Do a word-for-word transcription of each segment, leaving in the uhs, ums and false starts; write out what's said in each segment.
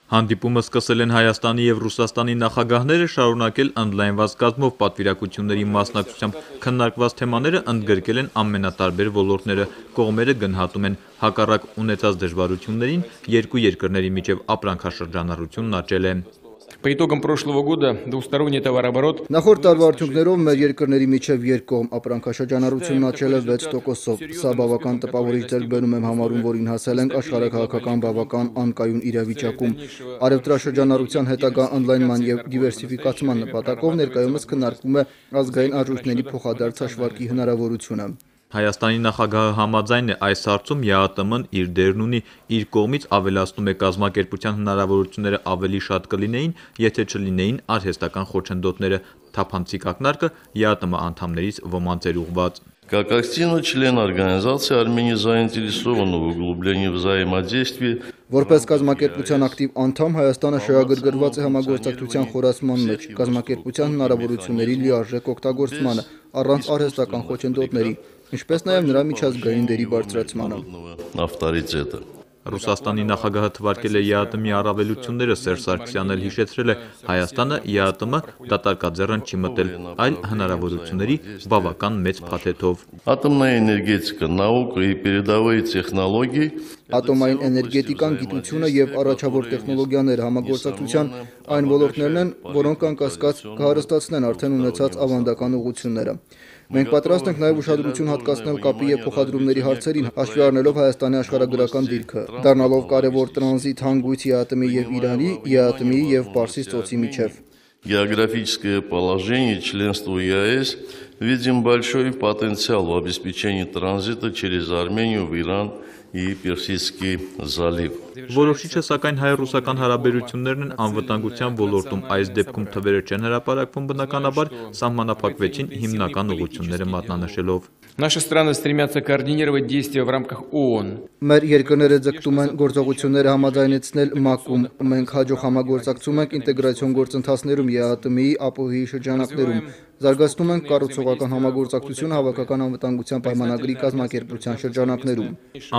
Հանդիպումը սկսել են Հայաստանի և Ռուսաստանի նախագահները, շարունակել ընդլայնված կազմով պատվիրակությունների մասնակցությամբ քննարկված թեմաները ընդգրկել են ամենատարբեր ոլորտները, կողմերը գնահատում են հակառակ ունեցած դժվարություններին, երկու երկրների միջև ապրանքաշրջանառությունն աճել է։ По итогам прошлого года двусторонний товарооборот Նախորդ տարվա արդյունքներով մեր երկրների միջև երկկողմ ապրանքաշրջանառությունն աճել է վեց տոկոսով։ Սա բավական տպավորիչ ձեռքբերում եմ համարում, որին հասել ենք աշխարհաքաղաքական բավական անկայուն իրավիճակում։ Առևտրաշրջանառության հետագա ընդլայնման և դիվերսիֆիկացման նպատակով ներկայումս քննարկվում է ազգային արժույթների փոխադարձ հաշվարկի հնարավորությունը։ Հայաստանի նախագահը համաձայն է այս հարցում ԵԱՏՄ-ն իր դերն ունի, իր կողմից ավելացնում է կազմակերպության հնարավորությունները ավելի շատ կլինեին, եթե չլինեին արհեստական խոչընդոտները, թափանցիկ ակնարկը ԵԱՏՄ անդամներից ոմանց էր ուղղված։ Как активный член организации, Армения заинтересована в углублении взаимодействия. Որպես կազմակերպության ակտիվ անդամ, Հայաստանը շահագրգռված է համագործակցության խորացման մեջ, կազմակերպության հնարավորությունների լիարժեք օգտագործմանը, առանց արհեստական խոչընդոտների, ինչպես նաև նրա միջազգային դերի բարձրացմանը։ Ավտորիտետը Ռուսաստանի նախագահը թվարկել է ԵԱՏՄ-ի առավելությունները, Սերժ Սարգսյանն էլ հիշեցրել է, Հայաստանը ԵԱՏՄ դատարկաձեռն չի մտել, այլ հնարավորությունների բավական մեծ փաթեթով։ Атомная энергетика, наука и передовые технологии. Ատոմային էներգետիկան, գիտությունը և առաջավոր տեխնոլոգիաները համագործակցության այն ոլորտներն են, որոնք անկասկած կհարստացնեն արդեն ունեցած ավանդական ուղղությունները։ Մենք պատրաստ ենք նաև ուշադրություն հատկացնել կապի և փոխադրումների հարցերին, հաշվի առնելով Հայաստանի աշխարհագրական դիրքը, դառնալով կարևոր տրանզիտ հանգույց ԵԱՏՄ-ի և Իրանի, ԵԱՏՄ-ի և Պարսից ծոցի միջև։ Географическое положение членства ЕАЭС видим большой потенциал в обеспечении транзита через Армению в Иран и Персидский залив. Որոշիչը սակայն հայ-ռուսական հարաբերություններն են անվտանգության ոլորտում, այս դեպքում թվերը չեն հրապարակվում, բնականաբար սահմանափակվեցին հիմնական ուղղությունները մատնանշելով։ Наши страны стремятся координировать действия в рамках ООН. Մեր երկրները ձգտում են գործողությունները համաձայնեցնել ՄԱԿ-ում, մենք հաջող համագործակցում ենք ինտեգրացիոն գործընթացներում ԵԱՏՄ-ի, ԱՊՀ-ի շրջանակներում, զարգացնում ենք կառուցողական համագործակցությունը հավաքական անվտանգության պայմանագրի կազմակերպության շրջանակներում։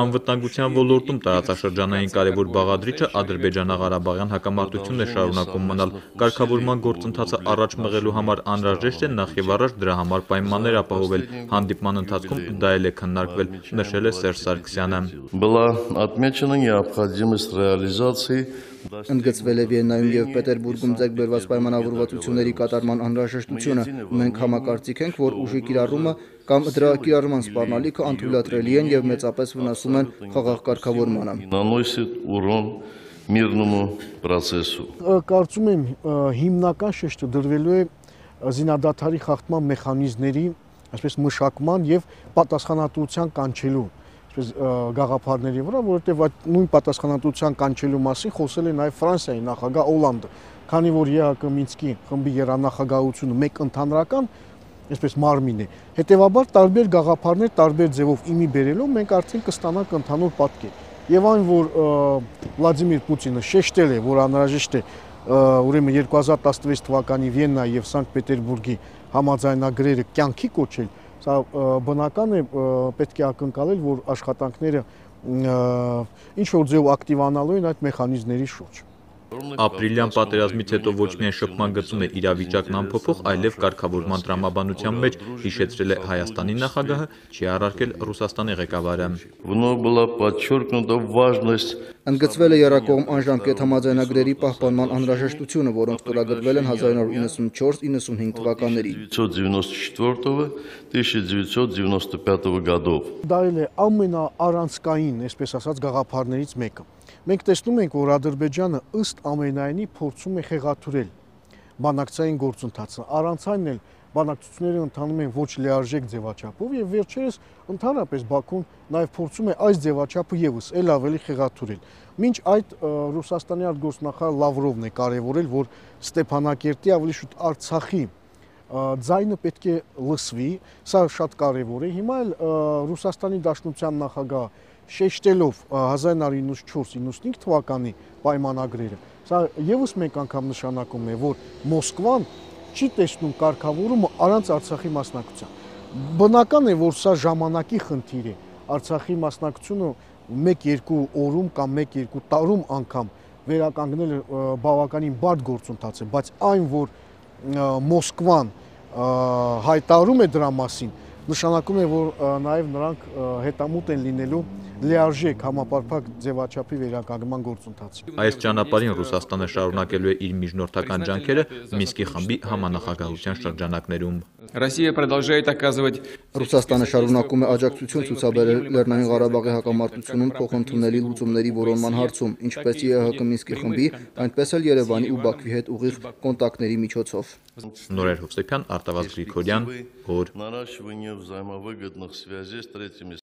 Անվտանգության ոլորտում տարածաշրջանային կարևոր բաղադրիչը Ադրբեջանա-Ղարաբաղյան հակամարտությունն է շարունակում մնալ։ Կարգավորման գործընթացը առաջ մղելու համար անհրաժեշտ է նախ եւ առաջ դրա համար պայմաններ ապահովել։ Հանդիպման ընթացքում դա էլ է քննարկվել, նշել է Սերժ Սարգսյանը։ Была отмечена необходимость реализации. Ընդգծվել է Վիեննայում և Պետերբուրգում ձեռքբերված պայմանավորվածությունների կատարման անհրաժեշտությունը։ Մենք համակարծիք ենք, որ ուժի կիրառումը կամ դրա կիրառման սպառնալիքը անթույլատրելի են և մեծապես վնասում են խաղաղ կարգավորմանը։ Наносит урон мирному процессу. Կարծում եմ հիմնական շեշտը դրվելու է զինադադարի խախտման մեխանիզմների, այսպես մշակման եւ պատասխանատվության կանչելու գաղափարների վրա, որովհետև այդ նույն պատասխանատվության կանչելու մասին խոսել է նաև Ֆրանսիայի նախագահ Օլանդը, քանի որ ԵԱՀԿ Մինսկի խմբի երանախագահությունը մեկ ընդհանրական, այսպես մարմին է, հետևաբար տարբեր գաղափարներ տարբեր ձևով իմի բերելով մենք արդեն կստանանք ընդհանուր պատկեր։ Եվ այն, որ Վլադիմիր Պուտինը շեշտել է, որ անհրաժեշտ է ուրեմն երկու հազար տասնվեց թվականի Վիեննայի եւ Սանկտ Պետերբուրգի համաձայնագրերը կյանքի կոչել, սա բնական է, պետք է ակնկալել, որ աշխատանքները ինչ որ ձեւ ակտիվանալու են այդ մեխանիզմների շուրջ։ Ապրիլյան պատերազմից հետո ոչ միայն շփման գծում է իրավիճակն անփոփոխ, այլև կարգավորման տրամաբանության մեջ, հիշեցրել է Հայաստանի նախագահը, չի առարկել Ռուսաստանի ղեկավարը։ Вновь была подчеркнута важность. Ընդգծվել է եռակողմ անժամկետ համաձայնագրերի պահպանման անհրաժեշտությունը, որոնք ստորագրվել են հազար նորը իննսունչորս իննսունհինգ թվականներին։ тысяча девятьсот девяносто пятого годов. Դա էլ է ամենաառանցքային, այսպես ասած, գաղափարներից մեկը։ Մենք տեսնում ենք, որ Ադրբեջանը ըստ ամենայնի փորձում է խեղաթյուրել բանակցային գործընթացը։ Առանց այն էլ բանակցությունները ընթանում են ոչ լիարժեք ձևաչափով եւ վերջերս ընդհանրապես Բաքուն նաեւ փորձում է այս ձևաչափը եւս ել ավելի խեղաթյուրել։ Մինչ այդ Ռուսաստանի արտգործնախարար Լավրովն է կարևորել, որ Ստեփանակերտի ավելի շուտ Արցախի ձայնը պետք է լսվի, սա շատ կարևոր է։ Հիմա էլ Ռուսաստանի Դաշնության նախագահ շեշտելով հազար նորը իննսունչորս իննսունհինգ թվականի պայմանագրերը, սա եւս մեկ անգամ նշանակում է, որ Մոսկվան չի տեսնում կարգավորումը առանց Արցախի մասնակցության։ Բնական է, որ սա ժամանակի խնդիր է։ Արցախի մասնակցությունը մեկ-երկու օրում կամ մեկ-երկու տարում անգամ վերականգնելը բավականին բարդ գործընթաց է, բայց այն, որ Մոսկվան հայտարարում է դրա մասին, նշանակում է, որ նաև նրանք հետամուտ են լինելու լիարժեք համապարփակ ձևաչափի վերականգնման գործընթացին։ Այս ճանապարհին Ռուսաստանը շարունակելու է իր միջնորդական ջանքերը Մինսկի խմբի համանախագահության շրջանակներում։ Россия продолжает оказывать Ռուսաստանը շարունակում է աջակցություն ցուցաբերել Լեռնային Ղարաբաղի հակամարտությունում փոխընդունելի լուծումների որոնման հարցում, ինչպես ԵԱՀԿ Մինսկի խմբի, այնպես էլ Երևանի ու Բաքվի հետ ուղիղ կոնտակտների միջոցով։ Նորեր Հովսեփյան, Արտավազդ Գրիգորյան, Օր։ Наращивание взаимовыгодных связей с третьими